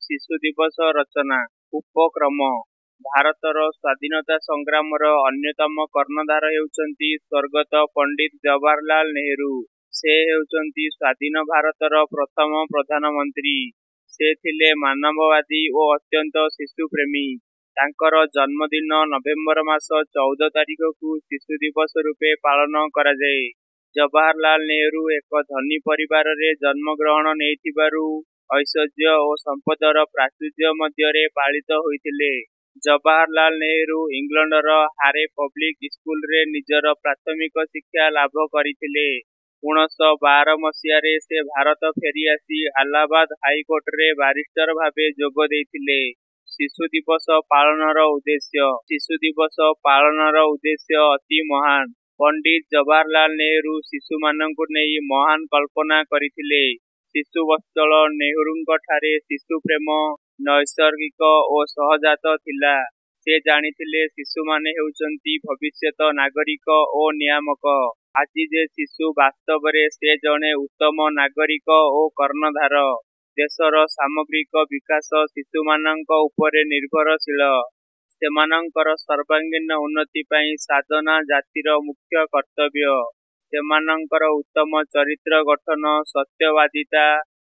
ଶିଶୁ ଦିବସ ରଚନା। ଉପକ୍ରମ। ଭାରତର ସ୍ୱାଧୀନତା ସଂଗ୍ରାମର ଅନ୍ୟତମ କର୍ଣ୍ଣଧାର ହେଉଛନ୍ତି ସ୍ୱର୍ଗତ ପଣ୍ଡିତ ଜବାହରଲାଲ ନେହେରୁ। ସେ ହେଉଛନ୍ତି ସ୍ୱାଧୀନ ଭାରତର ପ୍ରଥମ ପ୍ରଧାନମନ୍ତ୍ରୀ। ସେ ଥିଲେ ମାନବବାଦୀ ଓ ଅତ୍ୟନ୍ତ ଶିଶୁପ୍ରେମୀ। ତାଙ୍କର ଜନ୍ମଦିନ ନଭେମ୍ବର ମାସ 14 ତାରିଖକୁ ଶିଶୁ ଦିବସ ରୂପେ ପାଳନ କରାଯାଏ। ଜବାହରଲାଲ ନେହେରୁ ଏକ ଧନୀ ପରିବାରରେ ଜନ୍ମଗ୍ରହଣ ନେଇଥିବାରୁ ଐଶ୍ୱର୍ଯ୍ୟ ଓ ସମ୍ପଦର ପ୍ରାଚୁର୍ଯ୍ୟ ମଧ୍ୟରେ ପାଳିତ ହୋଇଥିଲେ। ଜବାହରଲାଲ ନେହେରୁ ଇଂଲଣ୍ଡର ହାରେ ପବ୍ଲିକ ସ୍କୁଲରେ ନିଜର ପ୍ରାଥମିକ ଶିକ୍ଷା ଲାଭ କରିଥିଲେ। 1912 ମସିହାରେ ସେ ଭାରତ ଫେରିଆସି ଆଲାହାବାଦ ହାଇକୋର୍ଟରେ ବାରିଷ୍ଟର ଭାବେ ଯୋଗ ଦେଇଥିଲେ। ଶିଶୁ ଦିବସ ପାଳନର ଉଦ୍ଦେଶ୍ୟ। ଶିଶୁ ଦିବସ ପାଳନର ଉଦ୍ଦେଶ୍ୟ ଅତି ମହାନ। ପଣ୍ଡିତ ଜବାହରଲାଲ ନେହେରୁ ଶିଶୁମାନଙ୍କୁ ନେଇ ମହାନ କଳ୍ପନା କରିଥିଲେ। ଶିଶୁବତ୍ସଳ ନେହେରୁଙ୍କଠାରେ ଶିଶୁପ୍ରେମ ନୈସର୍ଗିକ ଓ ସହଜାତ ଥିଲା। ସେ ଜାଣିଥିଲେ, ଶିଶୁମାନେ ହେଉଛନ୍ତି ଭବିଷ୍ୟତ ନାଗରିକ ଓ ନିୟାମକ। ଆଜି ଯେ ଶିଶୁ, ବାସ୍ତବରେ ସେ ଜଣେ ଉତ୍ତମ ନାଗରିକ ଓ କର୍ଣ୍ଣଧାର। ଦେଶର ସାମଗ୍ରିକ ବିକାଶ ଶିଶୁମାନଙ୍କ ଉପରେ ନିର୍ଭରଶୀଳ। ସେମାନଙ୍କର ସର୍ବାଙ୍ଗୀନ ଉନ୍ନତି ପାଇଁ ସାଧନା ଜାତିର ମୁଖ୍ୟ କର୍ତ୍ତବ୍ୟ। ସେମାନଙ୍କର ଉତ୍ତମ ଚରିତ୍ର ଗଠନ, ସତ୍ୟବାଦିତା,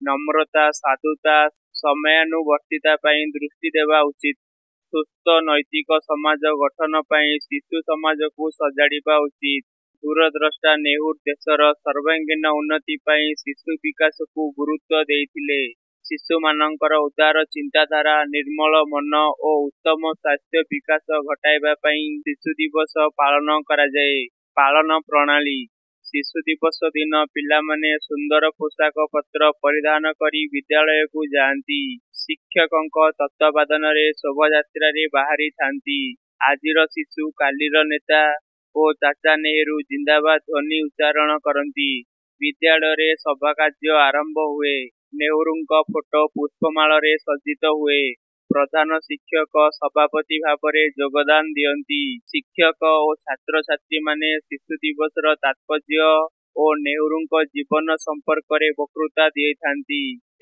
ନମ୍ରତା, ସାଧୁତା, ସମୟାନୁବର୍ତ୍ତିତା ପାଇଁ ଦୃଷ୍ଟି ଦେବା ଉଚିତ। ସୁସ୍ଥ ନୈତିକ ସମାଜ ଗଠନ ପାଇଁ ଶିଶୁ ସମାଜକୁ ସଜାଡ଼ିବା ଉଚିତ। ଦୂରଦ୍ରଷ୍ଟା ନେହେରୁ ଦେଶର ସର୍ବାଙ୍ଗୀନ ଉନ୍ନତି ପାଇଁ ଶିଶୁ ବିକାଶକୁ ଗୁରୁତ୍ୱ ଦେଇଥିଲେ। ଶିଶୁମାନଙ୍କର ଉଦାର ଚିନ୍ତାଧାରା, ନିର୍ମଳ ମନ ଓ ଉତ୍ତମ ସ୍ୱାସ୍ଥ୍ୟ ବିକାଶ ଘଟାଇବା ପାଇଁ ଶିଶୁ ଦିବସ ପାଳନ କରାଯାଏ। ପାଳନ ପ୍ରଣାଳୀ। ଶିଶୁ ଦିବସ ଦିନ ପିଲାମାନେ ସୁନ୍ଦର ପୋଷାକ ପତ୍ର ପରିଧାନ କରି ବିଦ୍ୟାଳୟକୁ ଯାଆନ୍ତି। ଶିକ୍ଷକଙ୍କ ତତ୍ତ୍ୱାବଧାନରେ ଶୋଭାଯାତ୍ରାରେ ବାହାରିଥାନ୍ତି। ଆଜିର ଶିଶୁ କାଲିର ନେତା ଓ ଚାଚା ନେହେରୁ ଜିନ୍ଦାବାଦ ଧ୍ୱନି ଉଚ୍ଚାରଣ କରନ୍ତି। ବିଦ୍ୟାଳୟରେ ସଭାକାର୍ଯ୍ୟ ଆରମ୍ଭ ହୁଏ। ନେହେରୁଙ୍କ ଫଟୋ ପୁଷ୍ପମାଳରେ ସଜ୍ଜିତ ହୁଏ। ପ୍ରଧାନ ଶିକ୍ଷକ ସଭାପତି ଭାବରେ ଯୋଗଦାନ ଦିଅନ୍ତି। ଶିକ୍ଷକ ଓ ଛାତ୍ରଛାତ୍ରୀମାନେ ଶିଶୁ ଦିବସର ତାତ୍ପର୍ଯ୍ୟ ଓ ନେହେରୁଙ୍କ ଜୀବନ ସମ୍ପର୍କରେ ବକ୍ତୃତା ଦେଇଥାନ୍ତି।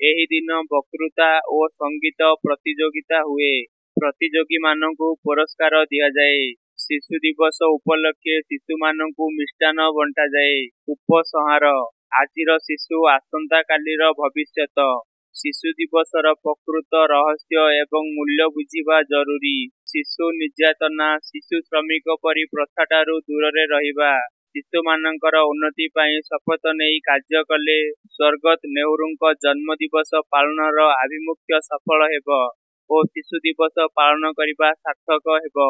ଏହି ଦିନ ବକ୍ତୃତା ଓ ସଙ୍ଗୀତ ପ୍ରତିଯୋଗିତା ହୁଏ। ପ୍ରତିଯୋଗୀମାନଙ୍କୁ ପୁରସ୍କାର ଦିଆଯାଏ। ଶିଶୁ ଦିବସ ଉପଲକ୍ଷେ ଶିଶୁମାନଙ୍କୁ ମିଷ୍ଟାନ୍ନ ବଣ୍ଟାଯାଏ। ଉପସଂହାର। ଆଜିର ଶିଶୁ ଆସନ୍ତା କାଲିର ଭବିଷ୍ୟତ। ଶିଶୁ ଦିବସର ପ୍ରକୃତ ରହସ୍ୟ ଏବଂ ମୂଲ୍ୟ ବୁଝିବା ଜରୁରୀ। ଶିଶୁ ନିର୍ଯ୍ୟାତନା, ଶିଶୁ ଶ୍ରମିକ ପରି ପ୍ରଥାଠାରୁ ଦୂରରେ ରହିବା, ଶିଶୁମାନଙ୍କର ଉନ୍ନତି ପାଇଁ ଶପଥ ନେଇ କାର୍ଯ୍ୟ କଲେ ସ୍ୱର୍ଗତ ନେହେରୁଙ୍କ ଜନ୍ମ ଦିବସ ପାଳନର ଆଭିମୁଖ୍ୟ ସଫଳ ହେବ ଓ ଶିଶୁ ଦିବସ ପାଳନ କରିବା ସାର୍ଥକ ହେବ।